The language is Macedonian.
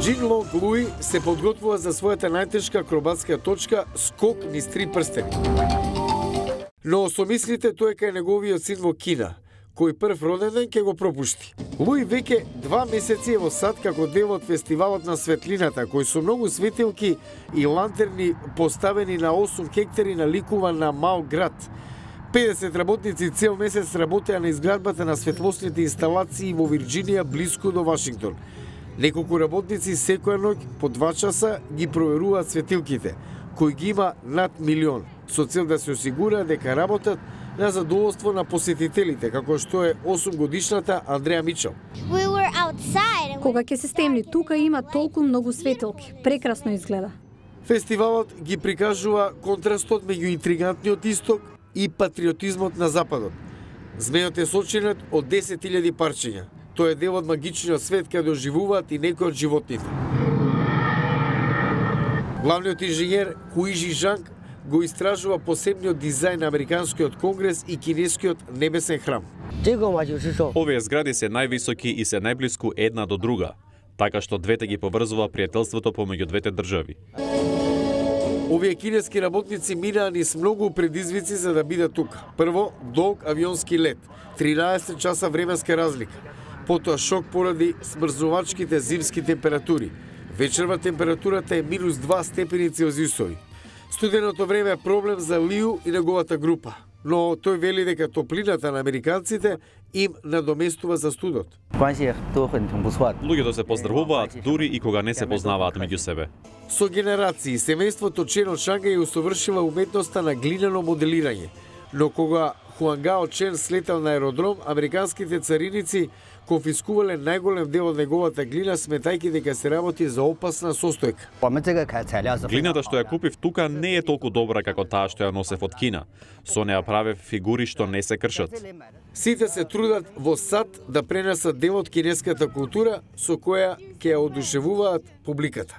Джин Лонг Луи се подготвува за својата најтешка акробатска точка скок низ 3 прстени. Но со мислите тој е кај неговиот син во Кина, кој прв роден ден ќе го пропушти. Луи веќе 2 месеци е во САД како дел од фестивалот на светлината, кој со многу светилки и лантерни поставени на 8 хектари наликува на мал град. 50 работници цел месец работеа на изградбата на светлосните инсталации во Вирџинија блиску до Вашингтон. Неколку работници секоја ноќ по 2 часа ги проверуваат светилките, кои ги има над 1.000.000, со цел да се осигура дека работат на задоволство на посетителите, како што е 8-годишната Андреа Мичел. Кога ќе се стемни, тука има толку многу светилки. Прекрасно изгледа. Фестивалот ги прикажува контрастот меѓу интригантниот исток и патриотизмот на западот. Змејот е сочинет од 10.000 парчиња. Тој е дел од магичниот свет каде доживуваат и некои од животните. Главниот инженер Хуижи Жанг го истражува посебниот дизајн на Американскиот конгрес и кинескиот небесен храм. Овие згради се највисоки и се најблиску една до друга, така што двете ги поврзува пријателството помеѓу двете држави. Овие кинески работници минаа низ многу предизвици за да бидат тука. Прво, долг авионски лет, 13 часа временска разлика. Потоа шок поради смрзнувачките зимски температури. Вечерва температурата е минус 2 степени Целзиусови. Студеното време е проблем за Лиу и неговата група, но тој вели дека топлината на американците им надоместува за студот. Луѓето се поздрвуваат дури и кога не се познаваат меѓу себе. Со генерации, семејството Чен од Шангај усовршила уметноста на глинено моделирање, но кога Хуангао Чен слетал на аеродром, американските цариници конфискувале најголем дел од неговата глина, сметајќи дека се работи за опасна состојка. Глината што ја купив тука не е толку добра како таа што ја носев од Кина. Со неа правев фигури што не се кршат. Сите се трудат во САД да пренесат дел од кинеската култура со која ќе ја одушевуваат публиката.